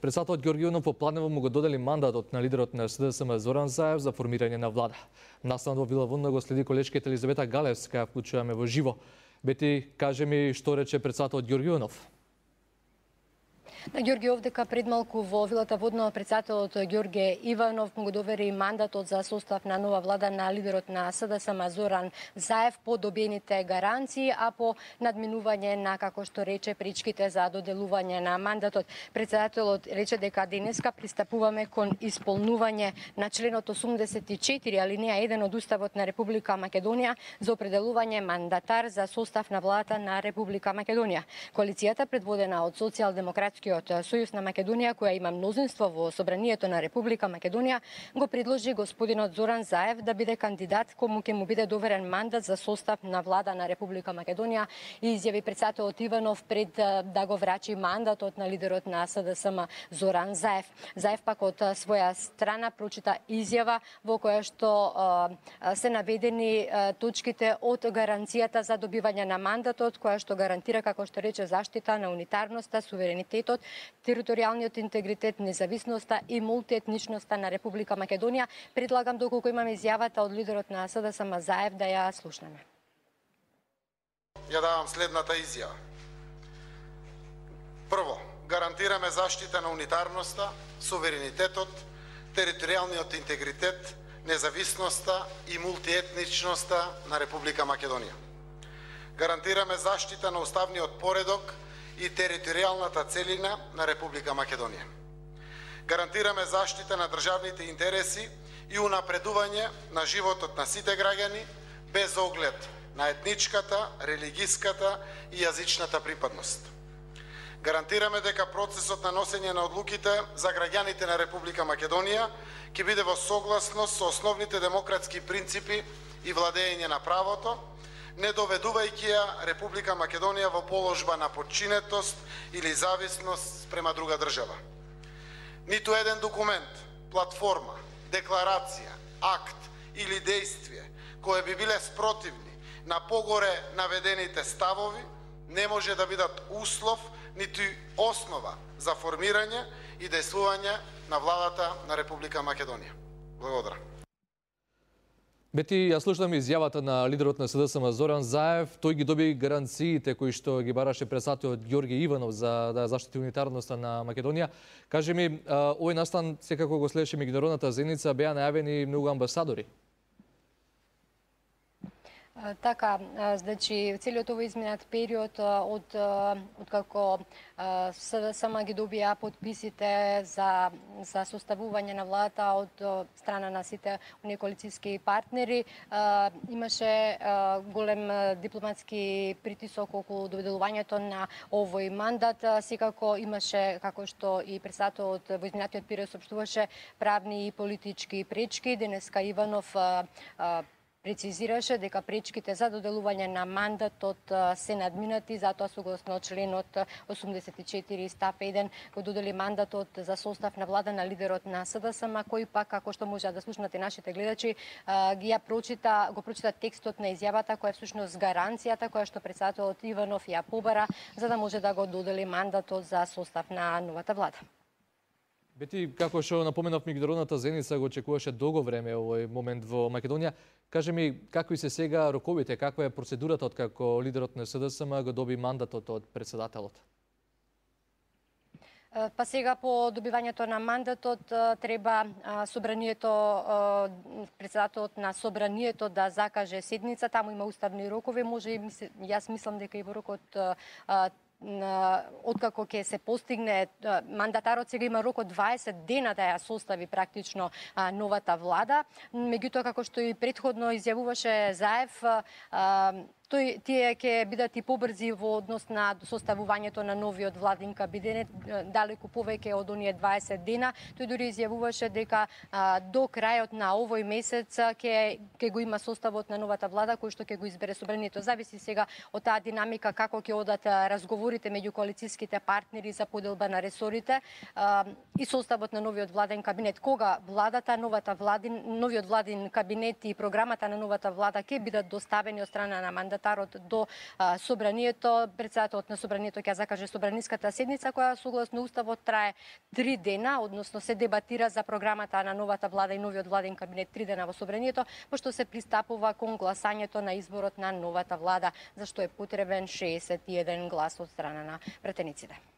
Председателот Ѓорѓе Иванов попладнево му го додели мандатот на лидерот на СДСМ Зоран Заев за формирање на влада. Наставно во Вила Вонна го следи колешката Елизавета Галевска, вклучуваме во живо. Бети, кажи ми што рече председателот Ѓорѓе Иванов. На Ѓорѓе овдека пред малку во Вилата Водна председателот Ѓорѓе Иванов му го довери мандатот за состав на нова влада на лидерот на СДСМ Зоран Заев по добиените гаранции, а по надминување на, како што рече, пречките за доделување на мандатот. Председателот рече дека денеска пристапуваме кон исполнување на членот 84 алинеја 1 од Уставот на Република Македонија за определување мандатар за состав на владата на Република Македонија. Коалицијата предводена од Социјалдемократскиот Сојуз на Македонија, која има мнозинство во Собранието на Република Македонија, го предложи господинот Зоран Заев да биде кандидат кому ќе му биде доверен мандат за состав на влада на Република Македонија, и изјави председателот Иванов пред да го врачи мандатот на лидерот на СДСМ Зоран Заев. Заев пак од своја страна прочита изјава во која што се наведени точките од гаранцијата за добивање на мандатот, која што гарантира, како што рече, заштита на унитарноста, суверенитетот, територијалниот интегритет, независноста и мултиетничноста на Република Македонија. Предлагам, доколку имаме изјавата од лидерот на СДСМ Заев, да ја слушнеме. Ја давам следната изјава. Прво, гарантираме заштита на унитарноста, суверенитетот, територијалниот интегритет, независноста и мултиетничноста на Република Македонија. Гарантираме заштита на уставниот поредок и територијалната целина на Република Македонија. Гарантираме заштита на државните интереси и унапредување на животот на сите граѓани без оглед на етничката, религиската и јазичната припадност. Гарантираме дека процесот на носење на одлуките за граѓаните на Република Македонија ќе биде во согласност со основните демократски принципи и владење на правото, не доведувајќи ја Република Македонија во положба на подчинетост или зависност спрема друга држава. Ниту еден документ, платформа, декларација, акт или дејствие кои би биле спротивни на погоре наведените ставови не може да бидат услов ниту основа за формирање и дејствување на владата на Република Македонија. Благодарам. Бети, ја слушнам изјавата на лидерот на СДСМ Зоран Заев. Тој ги доби гаранциите кои што ги бараше председателот Ѓорѓе Иванов за да заштити унитарноста на Македонија. Кажи ми, овој настан секако го следеше меѓународната заедница, беа најавени многу амбасадори. Така, значи, целиот овој изминат период од како СДСМ ги добија подписите за составување на владата од страна на сите оние коалицијски партнери, имаше голем дипломатски притисок околу доделувањето на овој мандат. Секако имаше, како што и председателот во изминатиот период соопштуваше, правни и политички пречки. Денеска Иванов прецизираше дека пречките за доделување на мандатот се надминати, затоа согласно членот 84 став 1 го додели мандатот за состав на влада на лидерот на СДСМ, кој пак, како што може да слушнате нашите гледачи, го прочита текстот на изјавата, која е всушност гаранцијата која што председателот Иванов ја побара за да може да го додели мандатот за состав на новата влада. Бети, како што напоменав, меѓународната заедница го очекуваше долго време овој момент во Македонија. Кажи ми, какви се сега роковите, каква е процедурата од како лидерот на СДСМ го доби мандатот од председателот? Па сега по добивањето на мандатот треба председателот на собранието да закаже седница, таму има уставни рокови, може и јас мислам дека и во рокот откако ќе се постигне, мандатарот сега има рок од 20 дена да ја состави практично новата влада. Меѓутоа, како што и претходно изјавуваше Заев, тие ќе бидат и побрзи во однос на составувањето на новиот владин кабинет, далеку повеќе од оние 20 дена. Тој дури изјавуваше дека до крајот на овој месец ќе го има составот на новата влада, кој што ќе го избере собранието. Зависи сега од таа динамика како ќе одат разговорите меѓу коалицијските партнери за поделба на ресорите и составот на новиот владен кабинет. Кога владата, новиот владин кабинет и програмата на новата влада ќе бидат доставени од страна на мандатарот, мандатарот до собранието. Председателот на собранието ќе закаже собраниската седница која согласно уставот трае 3 дена, односно се дебатира за програмата на новата влада и новиот владен кабинет 3 дена во собранието, пошто се пристапува кон гласањето на изборот на новата влада, за што е потребен 61 глас од страна на претениците.